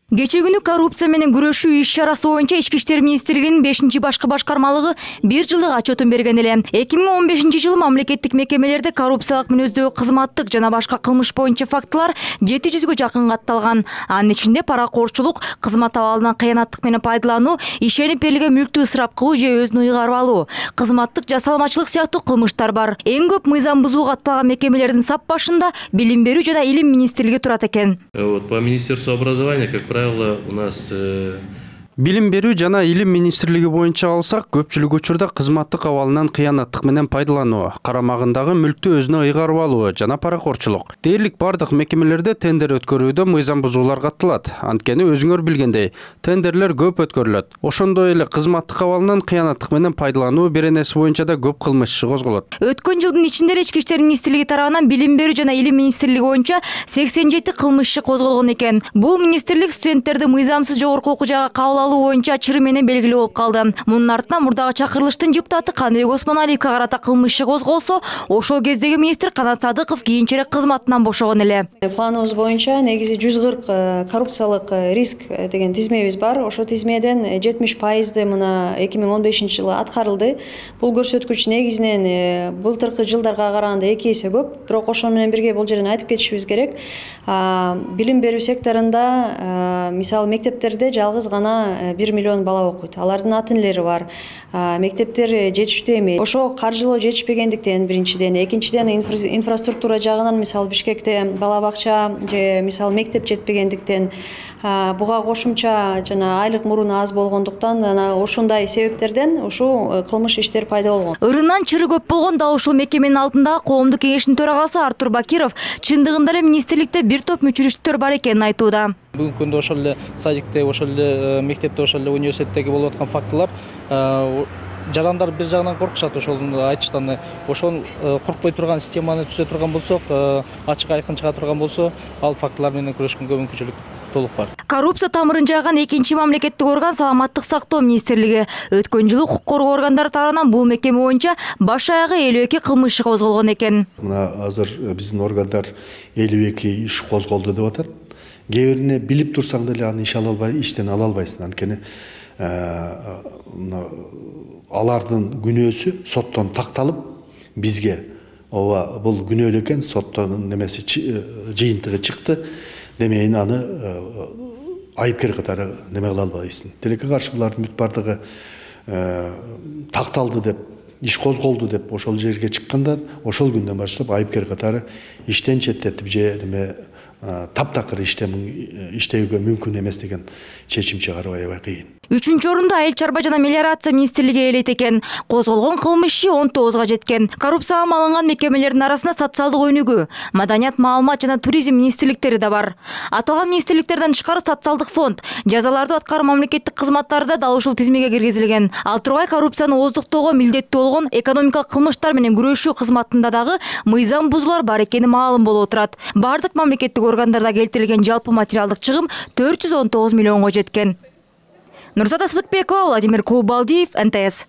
Кечээ күнү коррупция менен күрөшүү иш-чарасы боюнча Ички иштер министрлигинин 5 башкы башкармалыгы 1 жылдык отчетун берген эле. 2015 жылы мамлекеттик мекемелерде коррупциялык мүнөздөгү кызматтык жана башка кылмыш боюнча фактылар 700гө жакын катталган. Анын ичинде паракорчулук, кызмат абалынан кыянаттык менен пайдалануу, ишенип берилген мүлктү ысырап кылуу же өзүн ыйгарып алуу, кызматтык жасалмачылык сыяктуу кылмыштар бар. Эң көп мыйзам бузуу катталган мекемелердин сап башында Билим берүү жана Илим министрлиги турат экен. По Министерству образования, как правило, у нас Билим берүү жана Илим министрлиги боюнча алсак, көпчүлүк учурда кызматтык абалынан кыянаттык менен пайдалануу, карамагындагы мүлктү өзүнө ыйгарып алуу жана паракорчулук. Дээрлик бардык мекемелерде тендер өткөрүүдө мыйзам бузуулар катталат. Анткени өзүңөр билгендей, тендерлер көп өткөрүлөт. Ошондой эле кызматтык абалынан кыянаттык менен пайдалануу беренеси боюнча да көп кылмыш иши козголот. Өткөн жылдын ичинде Ички иштер министрлиги тарабынан Билим берүү жана Илим министрлиги боюнча 87 кылмыш иши козголгон экен. Бул министрлик студенттерди мыйзамсыз жогорку окуу жайга кабыл алуу боюнча чыры менен белгилүү болуп калды. Мунун артынан мурдагы чакырылыштын депутаты Каныбек Осмоналиевге карата кылмыш иши козголсо, ошол кездеги министр Канат Садыков кийинчерээк кызматынан бошогон эле. Планыбыз боюнча негизи 140 коррупциялык риск деген тизмебиз бар. Ошол тизмеден 70% мына 2015 жылы аткарылды. Бул көрсөткүч негизинен былтыркы жылдарга караганда 2 эсе көп. Бирок ошол менен бирге бул жерден айтып кетишибиз керек. Билим берүү секторунда мисалы мектептерде жалгыз гана 1 миллион бала окуйт. Алардын ата-энелери бар. Мектептер жетиштүү эмес. Ошо каржылоо жетишпегендиктен биринчиден, экинчиден инфраструктура жагынан мисалы Бишкекте бала бакча же мисалы мектеп жетпегендиктен, буга кошумча жана айлык муруну аз болгондуктан ошондой себептерден ушул кылмыш иштер пайда болгон. Ырынан чыры көп болгон дал ушул мекеменин алдындагы коомдук кеңештин төрагасы Артур Бакиров чындыгында эле министрликте бир топ мүчүрүштөр бар экенин айтууда. Бүгүнкү күндө ошол эле садикте, ошол эле мектепте, ошол эле университеттеги болуп аткан фактылар жарандар бир жагынан коркушат ошол айтыштан. Ошол коркпой турган системаны түзө турган болсок, ачык айкын чыга турган болсо, ал фактылар менен күрөшкөнгө мүмкүнчүлүк толук бар. Коррупция тамырын жайган экинчи мамлекеттик орган Саламаттык сактоо министрлиги. Өткөн жылы укук коргоо органдары тарабынан бул мекеме боюнча баш аягы 52 кылмыш иши козголгон экен. Мына азыр биздин органдар 52 иш козголду деп атат. Кээ бирине билип турсаң деле аны иштен ала албайсың. Анткени алардын күнөөсү соттон такталып, бизге ооба бул күнөө экен, соттон немеси жыйынтыгы чыкты. Демейин аны айыпкер катары неме кыла албайсың. Тилекке каршы булардын бүт бардыгы такталды деп, иш козголду деп ошол жерге чыкканда, ошол күндөн баштап айыпкер катары иштен четтетип же неме таптакыр иштөөгө мүмкүн эмес деген чечим чыгаруу аябай кыйын. 3-орунду Айыл чарба жана мелиорация министрлиги ээлейт экен. Козголгон кылмыш иши 19га жеткен. Коррупцияга малынган мекемелердин арасында социалдык өнүгүү, маданият, маалымат жана туризм министрликтери да бар. Аталган министрликтерден тышкары социалдык фонд, жазаларды аткаруу мамлекеттик кызматтары да дал ушул тизмеге киргизилген. Ал тургай коррупцияны ооздуктоого милдеттүү болгон экономикалык кылмыштар менен күрөшүү кызматында дагы мыйзам бузуулар бар экени маалым болуп турат. Бардык мамлекеттик органдарда келтирилген жалпы материалдык чыгым 419 миллионго жеткен. Нурзада Сыдыкбекова, Владимир Кубалдиев, НТС.